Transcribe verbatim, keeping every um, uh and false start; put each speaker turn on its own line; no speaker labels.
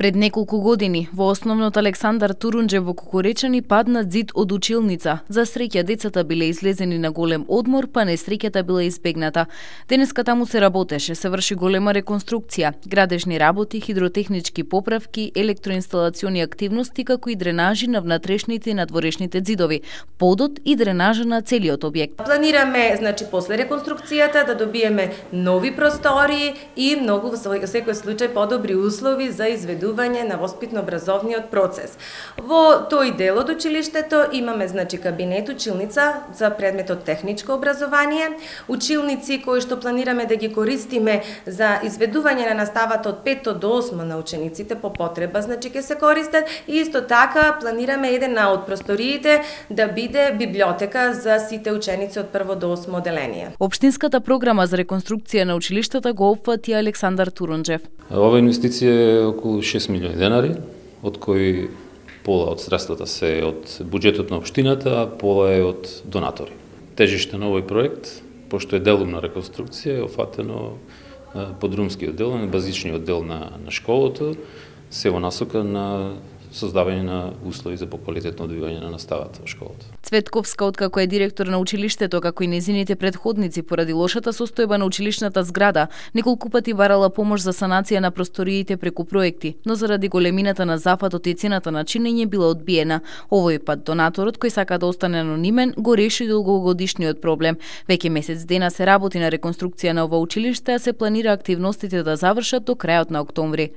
Пред неколку години во основното Александар Турунџев во Кукуречани падна ѕид од училница. За среќа децата биле излезени на голем одмор, па несреќата била избегната. Денеска таму се работеше, се врши голема реконструкција, градежни работи, хидротехнички поправки, електроинсталациони активности, како и дренажи на внатрешните и надворешните ѕидови, подот и дренажа на целиот објект.
Планираме, значи, после реконструкцијата да добиеме нови простори и многу во секој случај подобри услови за изведување на воспитно-образовниот процес. Во тој дел од училиштето имаме, значи, кабинет училница за предметот техничко образование, училници кои што планираме да ги користиме за изведување на наставата од петто до осмо на учениците по потреба, значи ќе се користат, и исто така планираме една од просториите да биде библиотека за сите ученици од прво до осмо оделение.
Општинската програма за реконструкција на училиштата го опфати Александар Турунџев.
Ова инвестиција е околу шест милиони денари, од кои пола од средствата се од буџетот на општината, а пола е од донатори. Тежиште на овој проект, пошто е делумна реконструкција, е офатено подрумскиот дел, базичниот дел на, на школото, се во насока на создавање на услови за поквалитетно одвивање на наставата во школата.
Цветковска, откако е директор на училиштето, како и незините предходници поради лошата состојба на училишната зграда, неколку пати барала помош за санација на просториите преку проекти, но заради големината на зафатот и цената на чинење била одбиена. Овој пат донаторот, кој сака да остане анонимен, го реши долгогодишниот проблем. Веќе месец дена се работи на реконструкција на ова училиште, а се планира активностите да завршат до крајот на октомври.